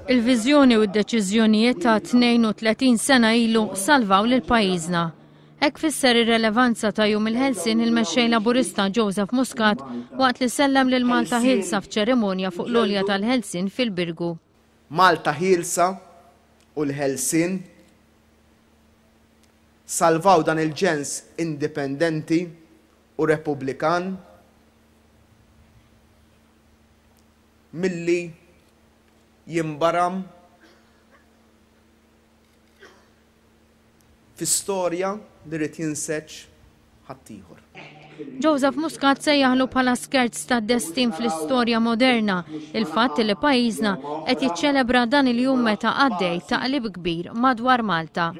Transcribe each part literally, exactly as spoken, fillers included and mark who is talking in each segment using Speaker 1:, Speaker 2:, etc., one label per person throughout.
Speaker 1: Il-viżjoni u d-deċiżjonijiet ta' tnejn u tletin sena ilu salvaw lil pajjiżna. Hekk fisser ir-relevanza ta' Jum il-Ħelsien il-mexxej Laburista Joseph Muscat waqt li sellem lil Malta Ħielsa f'ċerimonja fuq l-għolja tal-Ħelsien fil-Birgu.
Speaker 2: Malta Ħielsa u l-Ħelsien salvaw dan il-ġens indipendenti u repubblikan milli jimbaram fi storja li rrid jinseġ ħaddieħor.
Speaker 1: Joseph Muscat sejjaħlu bħala skerz ta' destin fl-istorja moderna il-fatt li pajjiżna qed jiċċelebra dan il-jum meta għaddej taqlib kbir madwar Malta.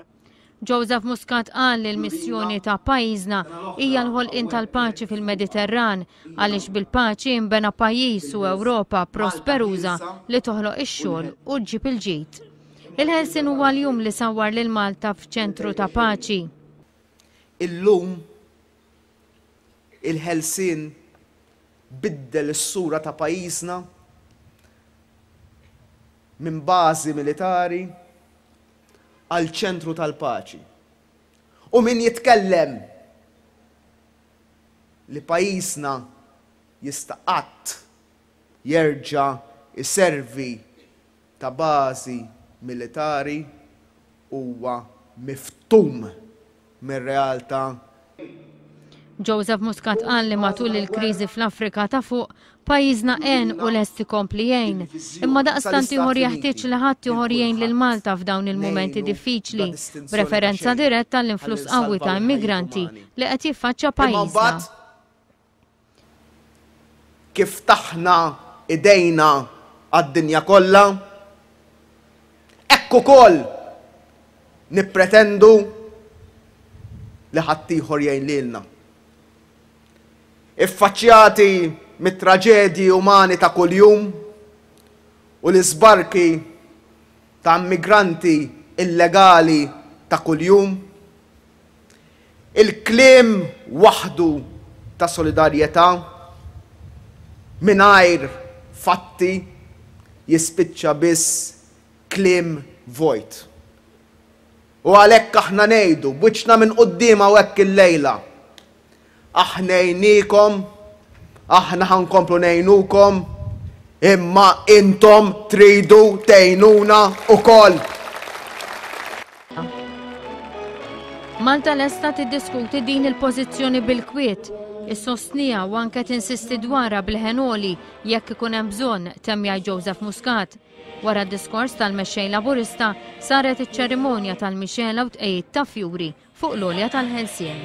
Speaker 1: Joseph Muscat qal li l-missjoni ta' pajjiżna hija l-ħolqien tal-paċi fil-Mediterran, għaliex bil-paċi imbena pajjiż u Ewropa prosperuża li toħloq ix-xogħol u ġġib il-ġid. Il-Ħelsien huwa l-jum li sawwar lil Malta f'ċentru ta' paċi.
Speaker 2: Illum il-Ħelsien biddel is-sura ta' pajjiżna minn bażi militari għal ċentru tal-paċi. U min jitkellem li pajjiżna jista' qatt jerġa' iservi ta' bażi militari huwa miftum mir-realtà.
Speaker 1: Joseph Muscat qal li matul il-kriżi fl-Afrika ta' Fuq, pajjiżna għen u lest ikompli jgħin. Imma daqstant ieħor jeħtieġ li ħadd ieħor jgħin lil Malta f'dawn il-mumenti diffiċli, b'referenza diretta l-influss qawwi ta' immigranti li qed jiffaċċja pajjiżna.
Speaker 2: Kif ftaħna idejna għad-dinja kollha, hekk ukoll nippretendu li ħaddieħor jgħin lilna. Iffaċċjati mit-traġedji umani ta' kuljum u l-isbarki ta' immigranti illegali ta' kuljum, il-kliem waħdu ta' solidarjetà mingħajr fatti jispiċċa biss kliem vojt. U għalhekk aħna ngħidu b'wiċċna minn quddiem hawnhekk illejla: Aħna għenniekom, aħna ħa nkomplu ngħinukom, imma intom tridu tgħinuna ukoll.
Speaker 1: Malta lesta tiddiskuti din il-pożizzjoni bil-kwiet, issostniha u anke tinsisti dwarha b'leħen għoli jekk ikun hemm bżonn, temm jgħid Joseph Muscat. Wara d-diskors tal-mexxej Laburista saret iċ-ċerimonja tal-mixgħela u tqegħid ta' fjuri fuq l-għolja tal-Ħelsien.